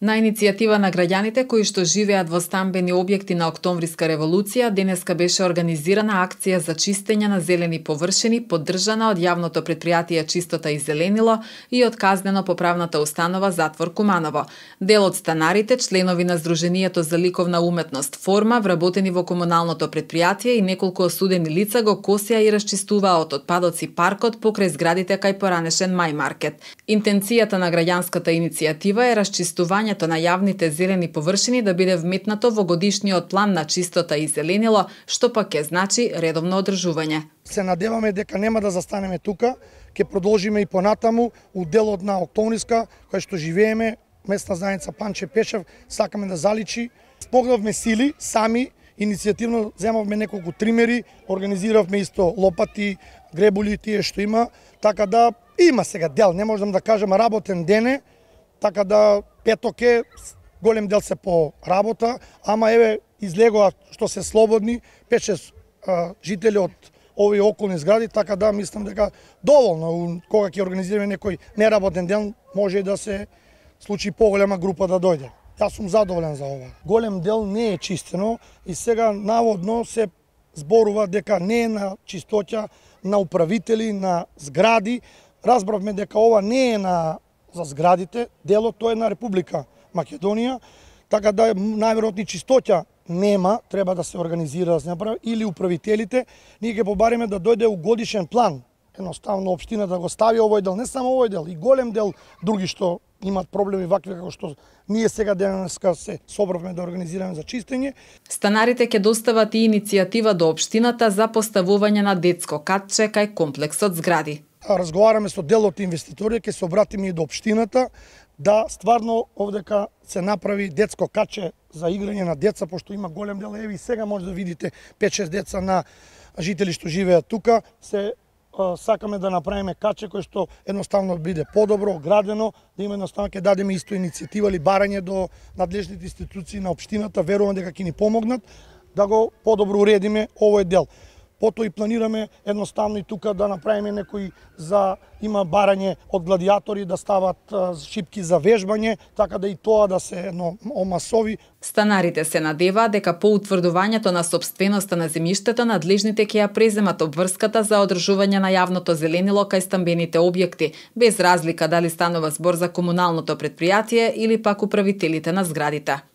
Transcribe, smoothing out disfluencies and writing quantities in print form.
На иницијатива на граѓаните кои што живеат во стамбени објекти на Октомвриска револуција, денеска беше организирана акција за чистење на зелени површини, поддржана од јавното претпријатие Чистота и зеленило и од казнено-поправната установа Затвор Куманово. Дел од станарите, членови на Сдруженијето за ликовна уметност Форма, вработени во комуналното претпријатие и неколку осудени лица го косија и расчистуваа од отпадоци паркот покрај зградите кај поранешен Мај Маркет. Интенцијата на граѓанската иницијатива е расчистување на јавните зелени површини да биде вметнато во годишниот план на Чистота и зеленило, што пак ќе значи редовно одржување. Се надеваме дека нема да застанеме тука, ќе продолжиме и понатаму у делот на Октомвриска, кој што живееме, местна заедница Панче Пешев, сакаме да заличи. Спогнавме сили сами, иницијативно земавме неколку тримери, организиравме исто лопати, гребули, тие што има, така да има сега дел, не можам да кажам работен ден е, така да петок е, голем дел се по работа, ама еве излегоа што се слободни, 5-6 жители од овие околни згради, така да мислам дека доволно, кога ќе организираме некој неработен ден, може и да се случи поголема група да дојде. Јас сум задоволен за ова. Голем дел не е чистено и сега наводно се зборува дека не е на чистоќа на управители, на згради. Разбравме дека ова не е за зградите, делот тоа е на Република Македонија, така да најверојатно чистоќа нема, треба да се организира, да се направи, или управителите, ние ќе побариме да дојде у годишен план, едноставно општина да го стави овој дел, не само овој дел, и голем дел други што имат проблеми вакви како што ние сега денеска се собравме да организираме за чистење. Станарите ќе достават и иницијатива до општината за поставување на детско катче кај комплексот згради. Разговараме со дел од инвеститори, ќе се обратиме и до општината да стварно овдека се направи детско катче за играње на деца, пошто има голем дел, еви сега може да видите 5-6 деца на жители што живеат тука, се сакаме да направиме катче кој што едноставно биде подобро, градено, да има едноставно ќе дадеме исто иницијатива или барање до надлежните институции на општината, верувам дека ќе ни помогнат да го подобро уредиме овој дел. Потоа и планираме едноставно и тука да направиме некои има барање од гладиатори да стават шипки за вежбање, така да и тоа да се омасови. Станарите се надеваат дека по утврдувањето на сопственоста на земјиштето надлежните ќе ја преземат обврската за одржување на јавното зеленило кај стамбените објекти, без разлика дали станува збор за комуналното претпријатие или пак управителите на зградите.